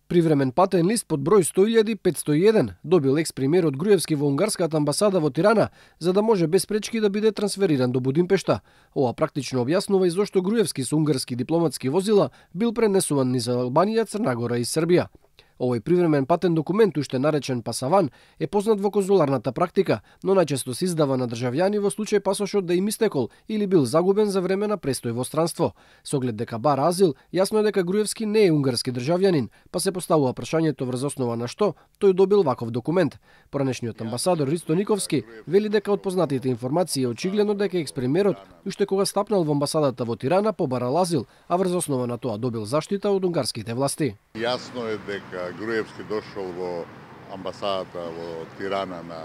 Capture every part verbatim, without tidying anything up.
Привремен патен лист под број сто илјади петстотини и еден добил екс-премиерот Груевски во унгарската амбасада во Тирана за да може без пречки да биде трансфериран до Будимпешта. Ова практично објаснува и зошто Груевски со унгарски дипломатски возила бил пренесуван низ Албанија, Црна Гора и Србија. Овој привремен патен документ, уште наречен пасаван, е познат во конзуларната практика, но најчесто се издава на државјани во случај пасошот да им истекол или бил загубен за време на престој во странство. Со оглед дека бара азил, јасно е дека Груевски не е унгарски државјанин, па се поставува прашањето врз основа на што тој добил ваков документ. Поранешниот амбасадор Ристо Никовски вели дека од познатите информации е очигледно дека екс-премиерот уште кога стапнал во амбасадата во Тирана побарал азил, а врз основа на тоа добил заштита од унгарските власти. Јасно е дека Груевски дошол во амбасадата во Тирана на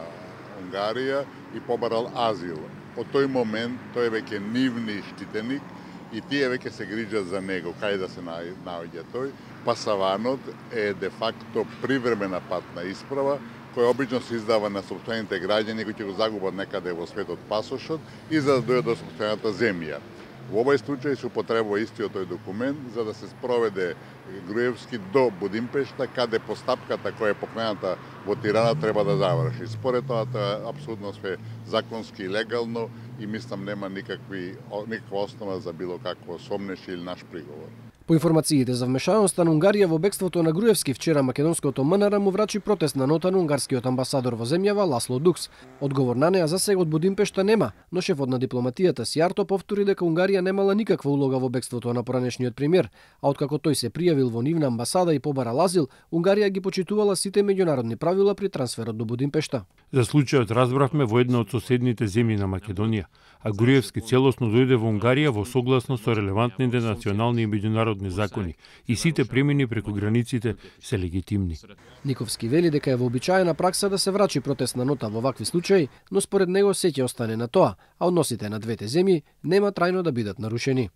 Унгарија и побарал азил. Од тој момент тој е веќе нивни штитеник и тие веќе се грижат за него, кај да се наоѓа тој. Пасаванот е де факто привремена патна исправа, која обично се издава на сопствените граѓани кои ќе го загубат некаде во светот пасошот и за да дојдат до сопствената земја. Во овој случај се употребува истиот тој документ за да се спроведе Груевски до Будимпешта, каде постапката која е покрената во Тирана треба да заврши. Според тоа, тоа е апсолутно све законски и легално и мислам нема никакви, никаква основа за било какво сомнеш или наш приговор. По информациите за вмешаноста на Унгарија во бегството на Груевски, вчера македонското МНР му врачи протестна нота на унгарскиот амбасадор во земјава Ласло Дукс. Одговор на неа за сега од Будимпешта нема, но шефот на дипломатијата Сијарто повтори дека Унгарија немала никаква улога во бегството на поранешниот премиер, а откако тој се пријавил во нивна амбасада и побарал азил, Унгарија ги почитувала сите меѓународни правила при трансферот до Будимпешта. За случајот разбравме во една од соседните земји на Македонија, а Груевски целосно дојде во Унгарија во согласност со релевантните национални и меѓународни закони и сите премини преку границите се легитимни. Никовски вели дека е вообичаена пракса да се врачи протестна нота во вакви случаи, но според него се ќе остане на тоа, а односите на двете земји нема трајно да бидат нарушени.